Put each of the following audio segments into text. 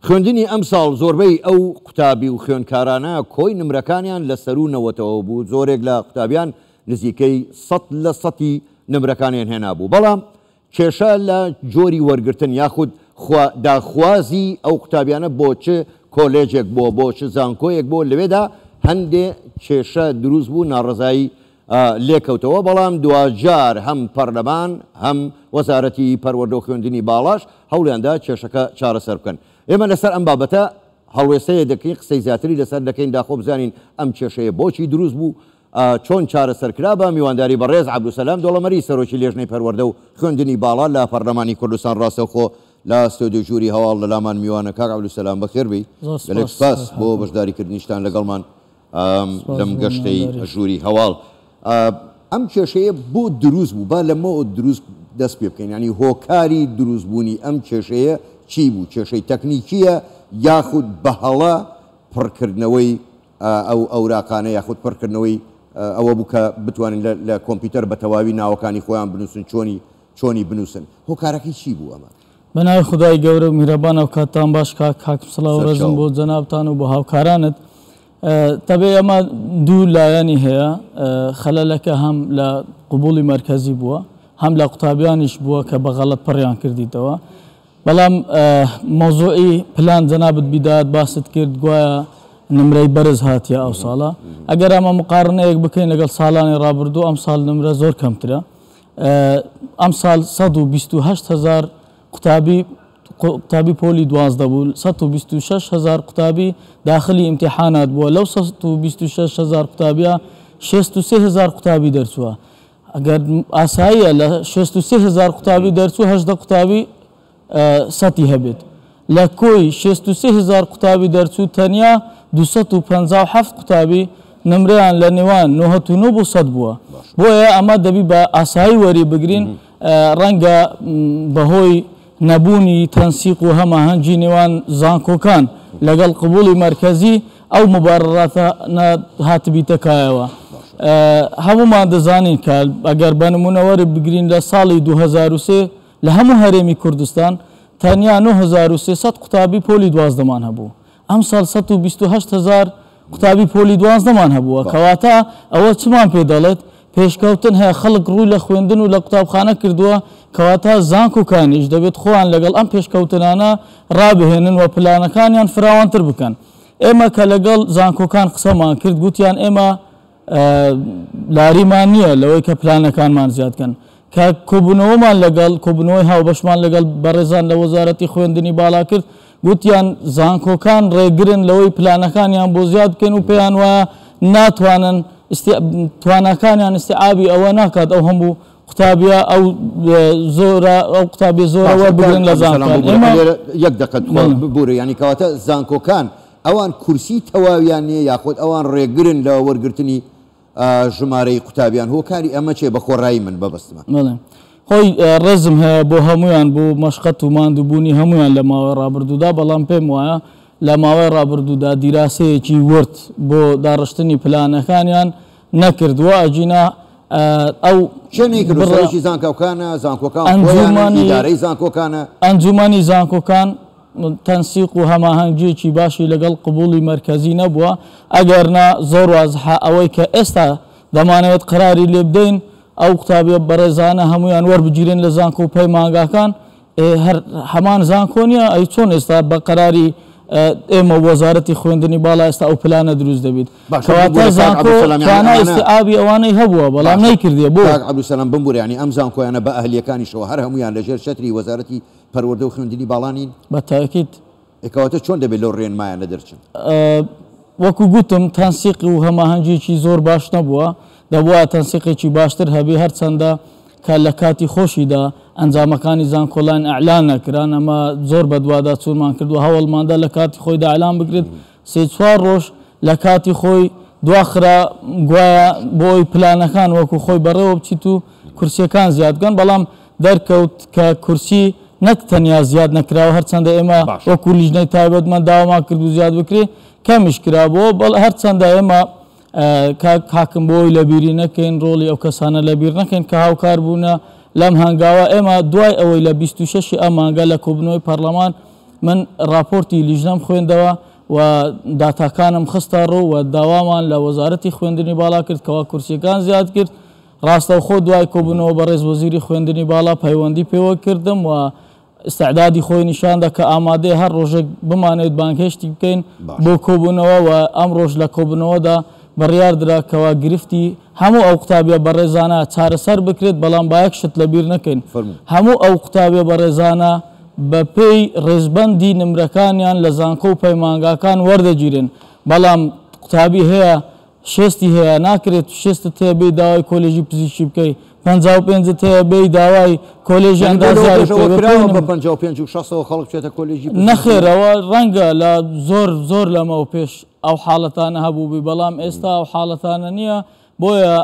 خوێندنی ئەمساڵ زۆربەی ئەو قوتابی و خوێندکارانە کۆی نمرەکانیان لە سەروو نەوەتەوە بوو، زۆرێک لە قوتابیان نزیکەی سەت لە سەتی نمرەکانیان هێنابوو، بەڵام کێشە لە جۆری وەرگرتن یاخود خوا داخوازی ئەو قوتابیانە بۆ چ کۆلێجێک بووە بۆ چ زانکۆیەک بووە لەوێدا هەندێ کێشە دروست بوو ناڕەزایی لێکەوتەوە، بەڵام دواجار هەم پەرلەمان هەم وەزارەتی پەروەردە و خوێندنی باڵاش هەوڵیاندا کێشەکە چارەسەر بکەن. ئێمە لەسەر ئەم بابەتە هەڵوێستەیە دەکەین، قسەی زیاتری لەسەر دەکەین، داخۆ بزانین ئەم کێشەیە بۆچی دروست بوو، چۆن چارەسەر کرا، بە میوانداری بەڕێز عەبدولسەلام دۆڵەمەری سەرۆکی لێژنەی پەروەردە و خوێندنی باڵا لە پەرلەمانی کوردستان ڕاستەوخۆ لە ستۆدیۆی ژووری هەواڵ لەلامان میوانە. کاک عەبدولسەلام بەخێر بێی، گەلێک سوپاس بۆ بەشداریکردنیشتان لەگەڵمان. لەم گەشتەی ژووری هەواڵ ئەم کێشەیە بۆ دروست بوو با لەمەوە دروست دەست پێ بکەین ینی هۆکاری دروست بوونی ئەم کێشەیە چی بوو کێشەی تەکنیکیە یاخود بە هەڵە پڕکردنەوەی ئەو ئەوراقانە یاخود پڕکردنەوەی ئەوە بوو کە بتوانین لە کۆمپیوتەر بە تەواوی ناوەکانی خۆیان بنووسن چۆنی چۆنی بنووسن هۆکارەکەی چی بوو ئەمە؟ بە ناوی خودای گەورە و میهرەبان ئەو کاتتان باش کاک حاکم سڵاو و ڕێزم بۆ جەنابتان و بۆ هاوکارانت. تەبعی ئەمە دوو لایەنی هەیە خەلەلەکە هەم لە قبوڵی مەرکەزی بووە هەم لە قوتابیانیش بووە کە بە غەڵەت پڕیان کردیتەوە بەڵام مەوزوعی پلان جەنابت بیدات باست کرد گوایە نمرەی بەرز هاتیە ئەو ساڵە ئەگەر ئەمە مقارنەیەک بکەین لەگەڵ ساڵانی ڕابردوو ئەم ساڵ نمرە زۆر کەمترە ئەمساڵ 128 هەزار قوتابی قوتابی پۆلی 12 بوو 126 هەزار قوتابی داخلی ئیمتیحانات بووە لەو 126 هەزار قوتابیە 63 هەزار قوتابی دەرچووە ئەگەر ئاساییە لە 63 هەزار قوتابی دەرچوو 18 قوتابی سەتی هەبێت. لە کۆی 63 هەزار قوتابی دەرچوو تەنیا 257 قوتابی نمرەیان لە نێوان 99 بۆ 100 بووە. بۆیە ئەمە دەبی بە ئاسایی وەری بگرین ڕەنگە بەهۆی نەبوونی تەنسیق و هەماهەنگی نێوان زانکۆکان لەگەڵ قبوڵی مەرکەزی ئەو موبارەراتانە هاتبیتە کایەوە. هەموومان دەزانین کە ئەگەر بە نموونە وەری بگرین لە ساڵی 2003 لە هەموو هەرێمی کوردستان تەنیا 9300 قوتابی پۆلی دوازدەمان هەبوو، ئەمساڵ 128 هەزار قوتابی پۆلی دوازدەمان هەبووە، کەواتە ئەوە چمان پێ دەڵێت؟ پێشکەوتن هەیە، خەڵک ڕووی لە خوێندن و لە قوتابخانە کردووە، کەواتە زانکۆکانیش دەبێت خۆیان لەگەڵ ئەم پێشکەوتنانە ڕابهێنن و پلانەکانیان فراوانتر بکەن. ئێمە کە لەگەڵ زانکۆکان قسەمان کرد گوتیان ئێمە لاریمان نییە لەوەی کە پلانەکانمان زیاد کەن. کە کۆبوونەوەمان لەگەڵ کۆبوونەوەی هاوبەشمان لەگەڵ بەڕێزان لە وەزارەتی خوێندنی باڵا کرد، گوتیان زانکۆکان ڕێگرن لەوەی پلانەکانیان بۆ زیاد بکەین و پێیان وایە ناتوانن تواناکانیان ئیستیعابی ئەوە ناکات ئەو هەموو قوتابیە ئەو زۆرە ئەو قوتابیە زۆرە وەربگرن لە زانکۆکان. ئێمە یەک دەقە ببورە یانی کەواتە زانکۆکان ئەوان کورسی تەواویان نییە یاخود ئەوان ڕێگرن لە وەرگرتنی ژمارەی قوتابیان هۆکاری ئەمە چیە بە خۆڕایی من مەبەستمە. بەڵێ خۆی ڕێزم هەیە بۆ هەموویان بۆ مەشقەت و ماندووبوونی هەموویان لە ماوەی ڕابردوودا بەڵام پێم وایە لە ماوەی ڕابردوودا دیراسەیەکی ورد بۆ داڕشتنی پلانەکانیان نەکردووە ئەگینا ئەو کێ نەیکردووە سەرۆکی زانکۆکانە زانکۆکان خۆیانن ئیدارەی زانکۆکانە. ئەنجومەنی زانکۆکان تەنسیق و هەماهەنگییەکی باشی لەگەڵ قبوڵی مەرکەزی نەبووە، ئەگەرنا زۆر وازحە ئەوەی کە ئێستا دەمانەوێت قەراری لێ بدەین ئەو قوتابیە بەڕێزانە هەموویان وەربگیرێن لە زانکۆ و پەیمانگاکان، ئێ هەر هەمان زانکۆ نییە، ئەی چۆن ئێستا بە قەراری ئێمە و وەزارەتی خوێندنی باڵا ئێستا ئەو پلانە دروست دەبیت؟ باشە کەواتە ببورە کاک زانکۆ عەبدولسەلام یانی توانای ئەمانە ئیستیعابی ئەوانەی هەبووە بەڵام باشە نەیکردیە بۆ؟ کاک عەبدولسەلام بمبورە یانی ئەم زانکۆیانە بە ئەهلییەکانیشەوە هەر هەموویان لەژێر چەتری وەزارەتی پەروەردە و خوێندنی باڵا نین؟ بە تاکید. ئێ کەواتە چۆن دەبێت لەو ڕێنمایانە دەرچن؟ وەکو گوتم تەنسیق و هەماهەنگیەکی زۆر باش نەبووە، دەبوایە تەنسیقێکی باشتر هەبێ، هەرچەندە کە لە کاتی خۆشیدا ئەنجامەکانی زانکۆلاین ئیعلان نەکران، ئەمە زۆر بەدواداچوونمان کردووە، هەوڵماندا لە کاتی خۆیدا ئیعلان بکرێت، سێ چوار ڕۆژ لە کاتی خۆی دواخرا، گوایە بۆ ئەوەی پلانەکان وەکو خۆی بەڕێوە بچیت و کورسیەکان زیاد بکەن، بەڵام دەرکەوت کە کورسی نەک تەنیا زیاد نەکراوە، هەرچەندە ئێمە وەکو لیژنەی تایبەتمەند داوامان کردبوو زیاد بکرێ، کەمیش کرابووەوە، بەڵ هەرچەندە ئێمە کاک حاکم بۆ ئەوەی لەبیری نەکەین، ڕۆڵی ئەو کەسانە لەبیر نەکەین کە هاوکار بوونە لەم هەنگاوە، ئێمە دوای ئەوەی لە 26 ی ئەم مانگە لە کۆبوونەوەی پەڕلەمان من ڕاپۆرتی لیژنەم خوێندەوە و داتاکانم خستە ڕوو و داوامان لە وەزارەتی خوێندنی باڵا کرد کەوا کورسیەکان زیاد کرد. ڕاستەوخۆ دوای کۆبوونەوە بەڕێز وەزیری خوێندنی باڵا پەیوەندی پێوە کردم و ئیستعدادی خۆی نیشاندا کە ئامادەیە هەر ڕۆژێک بمانەوێت بانگهێشتی بکەین بۆ کۆبوونەوە و ئەمڕۆش لە کۆبوونەوەدا بڕیاردرا کەوا گرفتی هەموو ئەو قوتابیە بەڕێزانە چارەسەر بکرێت، بەڵام با یەک شت لەبیر نەکەین هەموو ئەو قوتابیە بەڕێزانە بەپێی ڕێزبەندی نمرەکانیان لە زانکۆ و پەیمانگاکان وەردەگیرێن، بەڵام قوتابی هەیە شێستی هەیە ناکرێت شێستت هەیە بێی داوای کۆلێژی پزیشکی بکەی 55ت هەیە بێی داوای کۆلێژی یانی بۆ لەوە ئەندازیاری پێش بکەی ئەوە بە کراوە پێی بە نم 55 و شەستەوە خەڵک بچێتە کۆلێژی پزیشکی؟ نەخێر ئەوە ڕەنگە لە زۆر زۆر لەمەو پێش ئەو حاڵەتانە هەبووبی بەڵام ئێستا ئەو حاڵەتانە نییە بۆیە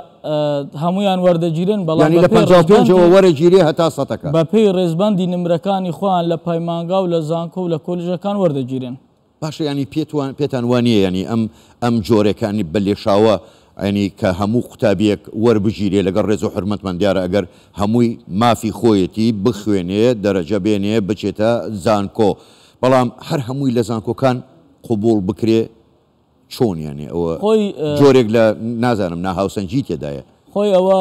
هەموویان وەردەگیرن بەڵام یانی لە بەپێی 55ەوە ڕێزبەندی وەرەگیرێ هەتا سەتەکە؟ بەپێی ڕێزبەندی نمرەکانی خۆیان لە پەیمانگا و لە زانکۆ و لە کۆلێژەکان وەردەگیرێن. باشە یانی پێتوان پێتان وا نییە یانی ئەم ئەم جۆرەکانی بە لێشاوە یانی کە هەموو قوتابیەک وەربگیرێ لەگەڵ ڕێز و حورمەتمان دیارە ئەگەر هەمووی مافی خۆیەتی بخوێنێ دەرەجە بێنێ بچێتە زانکۆ بەڵام هەر هەمووی لە زانکۆکان قبوڵ بکرێ چۆن یانی ئەوە خۆی جۆرێک لە نازانم ناهاوسەنگی تێدایە. خۆی ئەوە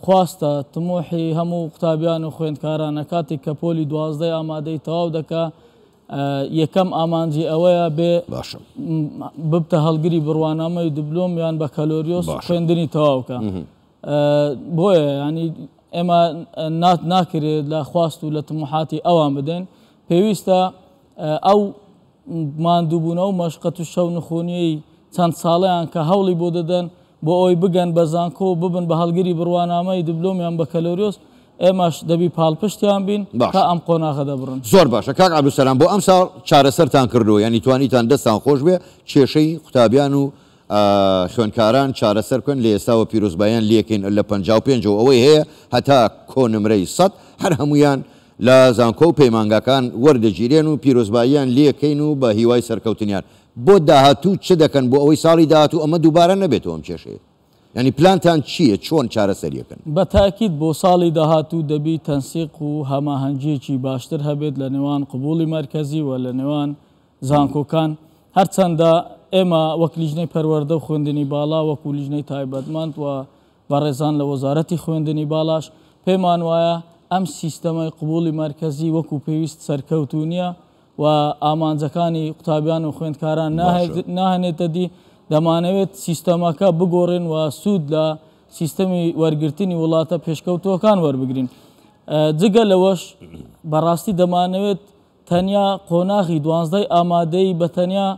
خواستە تموحی هەموو قوتابیان و خوێندکارانە کاتێک کە پۆلی دوازدەی ئامادەی تەواو دەکا یەکەم ئامانجی ئەوەیە بێ باشە ببتە هەڵگری بڕوانامەی دبلۆم یان بەکەلۆریۆس باشە خوێندنی تەواوکە بۆیە ینی ئێمە نات ناکرێت لە خواست و لە تموحاتی ئەوان بدەین پێویستە ئەو ماندووبوونە و مەشقەت و شەونخونیی چەند ساڵەیان کە هەوڵی بۆ دەدەن بۆ ئەوەی بگەن بە زانکۆ و ببن بە هەڵگری بڕوانامەی دبلۆم یان بەکەلۆریۆس، ئێمەش دەبی پاڵپشتیان بین تا باشە. ئەم قۆناغە دەبڕن. زۆر باشە کاک عەبدولسەلام بۆ ئەمساڵ چارەسەرتان کردووە یانی توانیتان دەستان خۆش بێ کێشەی قوتابیان و خوێندکاران چارەسەر بکەن لە ئێستاوە پیرۆزباییان لێکەین لە 55 ەوە ئەوەی هەیە هەتا کۆنمرەی 100 هەر هەموویان لە زانکۆ و پەیمانگاکان وەردەگیرێن و پیرۆزباییان لێکەین و بە هیوای سەرکەوتنیان بۆ داهاتوو چ دەکەن بۆ ئەوەی ساڵی داهاتوو ئەمە دووبارە نەبێتەوە ئەم کێشەیە؟ یانی پلانتان چییە چۆن چارەسەریەکەن؟ بە تاکید بۆ ساڵی داهاتوو دەبی تەنسیق و هەماهەنگییەکی باشتر هەبێت لە نێوان قبوڵی مەرکەزی و لە نێوان زانکۆکان، هەرچەندە ئێمە وەک لیژنەی پەروەردە و خوێندنی باڵا وەکو لیژنەی تایبەتمەند و بەڕێزان لە وەزارەتی خوێندنی باڵاش پێمان وایە ئەم سیستەمەی قبوڵی مەرکەزی وەکو پێویست سەرکەوتوو نییە و ئامانجەکانی قوتابیان و خوێندکاران ناهێنێتە دی، دەمانەوێت سیستەمەکە بگۆڕین و سوود لە سیستەمی وەرگرتنی وڵاتە پێشکەوتووەکان وەربگرین. جگە لەوەش بەڕاستی دەمانەوێت تەنیا قۆناغی دوانزدەی ئامادەیی بە تەنیا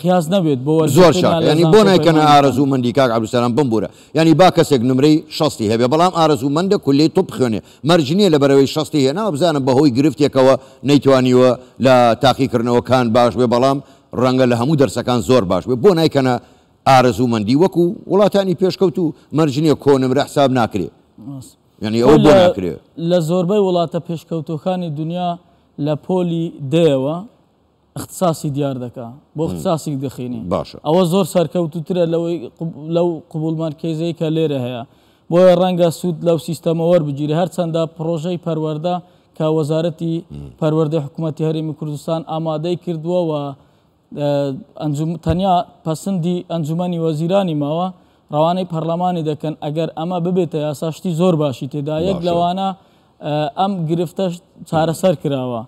قیاس نەبێت بۆ زۆر وەرگرتنیان چاکە لە یانی بۆ زانکۆ نایکەنە پەیمانگەکان. ئارەزوومەندی کاک عەبدولسەلام بمبورە یانی با کەسێک نمرەی شەستی هەبێ بەڵام ئارەزوومەندە کولیەی طب بخوێنێ مەرج نییە لەبەرئەوەی شەستی هێناوە بزانم بەهۆی گرفتێکەوە نەیتوانیوە لە تاقیکردنەوەکان باش بێ بەڵام ڕەنگە لە هەموو دەرسەکان زۆر باش بێ بۆ نایکەنە ئارەزوومەندی وەکو وڵاتانی پێشکەوتوو مەرج نییە کۆنمرە حساب ناکرێ یانی خۆ ئەوە بۆ لە ناکرێ؟ لە زۆربەی وڵاتە پێشکەوتووەکانی دونیا لە پۆلی دەیەوە اختصاصی دیار دەکا بۆ اختصاصی دەخینی باشە. ئەوە زۆر سەرکەوتووترە لەوەی لەو قبوڵ مەرکەزەی کە لێرە هەیە بۆیە ڕەنگە سوود لەو سیستەمە وەربگیرێ هەرچەندە پڕۆژەی پەروەردە کە وەزارەتی پەروەردەی حکوومەتی هەرێمی کوردستان ئامادەی کردووە و تەنیا پەسندی ئەنجومەنی وەزیرانی ماوە ڕەوانەی پەرلەمانی دەکەن ئەگەر ئەمە ببێتە یاسا شتی زۆر باشی تێدا یەک لەوانە ئەم گرفتەش چارەسەر کراوە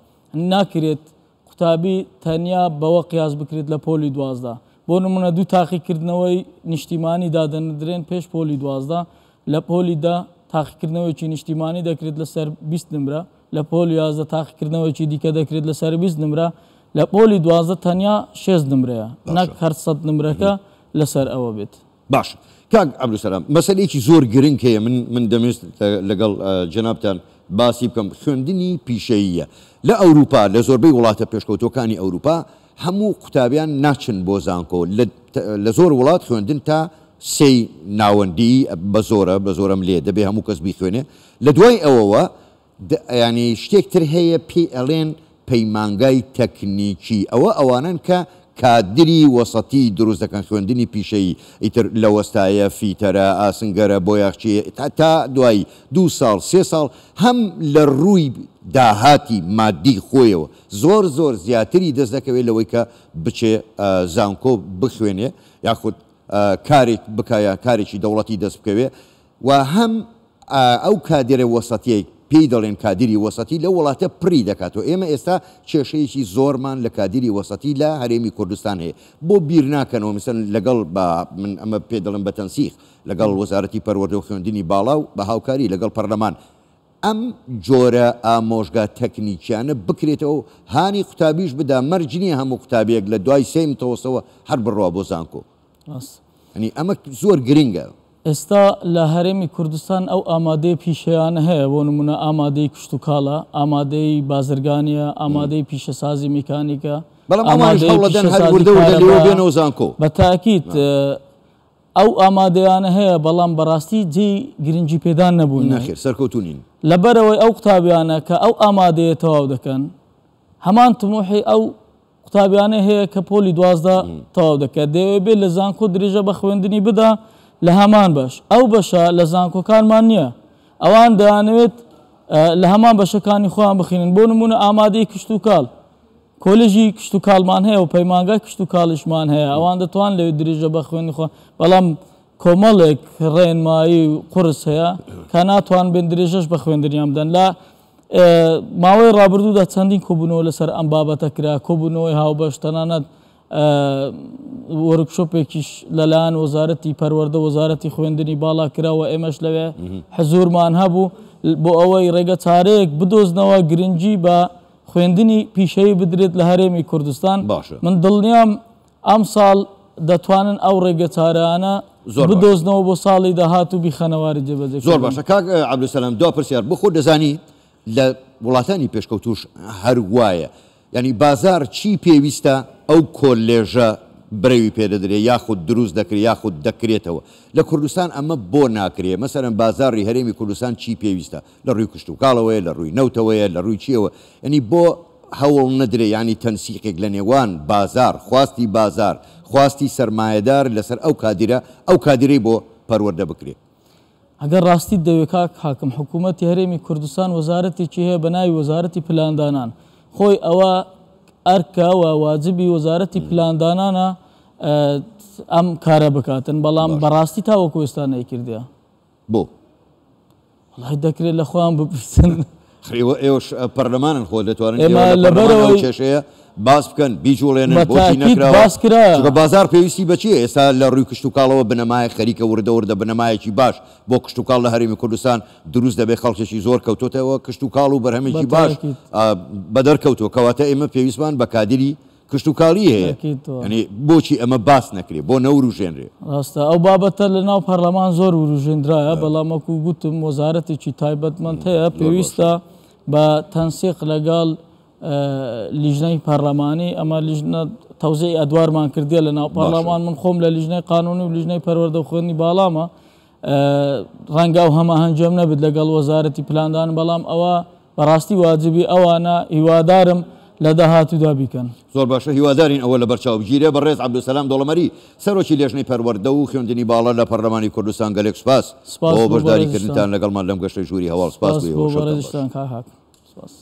ناکرێت قوتابی تەنیا بەوە قیاس بکرێت لە پۆلی 12 بۆ نمونە دوو تاقیکردنەوەی نیشتیمانی دادەندرێن پێش پۆلی 12 لە پۆلی دە تاقیکردنەوەیەکی نیشتیمانی دەکرێت لەسەر 20 نمرە لە پۆلی 11 تاقیکردنەوەیەکی دیکە دەکرێت لەسەر 20 نمرە لە پۆلی 12 تەنیا شێست نمرەیە نەک هەر 100 نمرەکە لەسەر ئەوە بێت. باشە کاک عەبدولسەلام مەسەلەیەکی زۆر گرنگ هەیە من من دەمویست لەگەڵ جەنابتان باسی بکەم خوێندنی پیشەییە لە ئەوروپا لە زۆربەی وڵاتە پێشکەوتووەکانی ئەوروپا هەموو قوتابیان ناچن بۆ زانکۆ لە زۆر وڵات خوێندن تا سێی ناوەندی بە زۆرە بە زۆرەم لێ دەبێ هەموو کەس بیخوێنێ لە دوای ئەوەوە یانی شتێک تر هەیە پێی ئەڵێن پەیمانگای تەکنیکی ئەوە ئەوانەن کە کادری وەسەتی دروست دەکەن خوێندنی پیشەیی ئیتر لە وەستایە، فیتەرە، ئاسنگەرە، بۆیاخچییە تا دوایی دوو ساڵ سێ ساڵ هەم لە رووی داهاتی مادی خۆیەوە زۆر زۆر زیاتری دەست دەکەوێت لەوەی کە بچێ زانکۆ بخوێنێ یاخود کارێک بکا یان کارێکی دەوڵەتی دەست بکەوێ و هەم ئەو کادێرە وەسەتیەی پێی دەڵێن کادیری وەسەتی لەو وڵاتە پڕی دەکاتەوە. ئێمە ئێستا کێشەیەکی زۆرمان لە کادیری وەسەتی لە هەرێمی کوردستان هەیە. بۆ بیر ناکەنەوە مەسەلەن لەگەڵ بە من ئەمە پێ دەڵێم بە تەنسیق لەگەڵ وەزارەتی پەروەردە و خوێندنی باڵا و بە هاوکاری لەگەڵ پەرلەمان ئەم جۆرە ئامۆژگا تەکنیکیانە بکرێتەوە و هانی قوتابیش بدا مەرج نییە هەموو قوتابیەک لە دوای سێی متەوەستەوە هەر بڕوا بۆ زانکۆ. ڕاستە. یانی ئەمە زۆر گرنگە. ئێستا لە هەرێمی کوردستان ئەو ئامادەی پیشەیانە هەیە، بۆ نموونە ئامادەی کشتوکاڵە، ئامادەی بازرگانییە، ئامادەی پیشەسازی میکانیکە، بەڵام ئەوانیش ئامادەی هەوڵەدەن هەر پیشەسازی وردە وردە لێوە کارەبایە. بێنەوە زانکۆ. بە تاکید ئەو ئامادەیانە هەیە، بەڵام بەڕاستی جێی گرنگی پێدان نەبوون. نەخێر سەرکەوتوو نین. لەبەرئەوەی ئەو قوتابیانە کە ئەو ئامادەیە تەواو دەکەن، هەمان تموحی ئەو قوتابیانەی هەیە کە پۆلی 12 تەواو دەکات دەیەوێت بێت لە زانکۆ درێژە بە خوێندنی بدا لە هەمان بەش ئەو بەشە لە زانکۆکانمان نییە ئەوان دەیانەوێت لە هەمان بەشەکانی خۆیان بخینن بۆ نمونە ئامادەی کشتوکاڵ کۆلێژی کشتوکاڵمان هەیە و پەیمانگای کشتوکاڵیشمان هەیە ئەوان دەتوان لەوێ درێژە بە خوێندنی خۆ بەڵام کۆمەڵێک ڕێنمایی قورس هەیە کە ناتوان بێن درێژەش بە خوێندنیان بدەن لە ماوەی ڕابردوودا چەندین کۆبوونەوە لەسەر ئەم بابەتە کرا، کۆبوونەوەی هاوبەش، تەنانەت وۆرکشۆپێکیش لەلایەن وەزارەتی پەروەردە وەزارەتی خوێندنی باڵا کرا و ئێمەش لەوێ حزوورمان هەبوو بۆ ئەوەی ڕێگە چارەیەک بدۆزنەوە گرنگی بە خوێندنی پیشەیی بدرێت لە هەرێمی کوردستان. باشە. من دڵنیام ئەمساڵ دەتوانن ئەو ڕێگەچارانە زۆر باشە. بدۆزنەوە بۆ ساڵی داهاتوو بیخەنە واری جێبەجێکردن. زۆر باشە کاک عەبدولسەلام دوا پرسیار بۆ خۆت دەزانی لە وڵاتانی پێشکەوتووش هەر وایە یانی بازاڕ چی پێویستە ئەو کۆلێژە برەوی پێ دەدرێ یاخود دروست دەکرێ یاخود دەکرێتەوە لە کوردستان ئەمە بۆ ناکرێ مەسەلەن بازاڕی هەرێمی کوردستان چی پێویستە لە ڕووی کشتوکاڵەوەیە، لە ڕووی نەوتەوەیە، لە ڕووی چییەوە، یانی بۆ هەوڵ نەدرێ یانی تەنسیقێک لە نێوان بازاڕ، خواستی بازاڕ، خواستی سەرمایەدار لەسەر ئەو کادیرە، ئەو کادیرەی بۆ پەروەردە بکرێ. ئەگەر ڕاستیت دەوێ کاک حاکم، حکوومەتی هەرێمی کوردستان وەزارەتێکی هەیە بە ناوی وەزارەتی پلاندانان، خۆی ئەوە ئەرکە و واجبی وەزارەتی پلاندانانە ئەم کارە بکاتن، بەڵام بەڕاستی تاوەکو ئێستا نەیکردیە. بۆ؟ وەڵای دەکرێت لە خۆیان بپرسن. ئێوە ئێوەش پەرلەمانن خۆ دەتوانن ئێمە ئێوە لە پەرلەمان ئەو لەبەرئەوەی کێشەیە باس بکەن بیجوڵێنن بە بۆچی تاکید نەکراوە باس کرایە. چونکە بازاڕ پێویستی بە چییە ئێستا لە ڕووی کشتوکاڵەوە بنەمایەک خەریکە وردە وردە بنەمایەکی باش بۆ کشتوکاڵ لە هەرێمی کوردستان دروست دەبێت خەڵکێکی زۆر کەوتۆتەوە کشتوکاڵ و بە بەرهەمێکی باش تاکید. بەدەر کەوتووە کەواتە ئێمە پێویستمان بە کادیری کشتوکاڵی هەیە یانی بۆچی ئەمە باس نەکرێ بۆ نەوروژێنرێ؟ ڕاستە ئەو بابەتە لە ناو پەرلەمان زۆر وروژێندرایە بەڵام وەکو گوتم وەزارەتێکی تایبەتمەند هەیە پێویستە بە تەنسیق لەگەڵ لیژنەی پەرلەمانی ئەمە لیژنە تەوزیعی ئەدوارمان کردیە لە ناو پەرلەمان من خۆم لە لیژنەی قانونی و لیژنەی پەروەردە و خوێندنی باڵامە ڕەنگە ئەو هەماهەنگیەم نەبێت لەگەڵ وەزارەتی پلاندان بەڵام ئەوە بەڕاستی واجبی ئەوانە هیوادارم لە داهاتوودا بیکەن. زۆر باشە هیوادارین ئەوە لەبەرچاو بگیرێ. بەڕێز عەبدولسەلام دۆڵەمەری سەرۆکی لێژنەی پەروەردە و خوێندنی باڵا لە پەرلەمانی کوردستان گەلێک سوپاس سپاس بۆ بۆ بەشداری بەڕێزیشتان. کردنتان لەگەڵمان لەم گەشتەی ژووری هەواڵ سپاس سپاس بۆ بۆ ئێوە شەوتان باش. بەڕێزیشتان کاک حاکم. سپاس.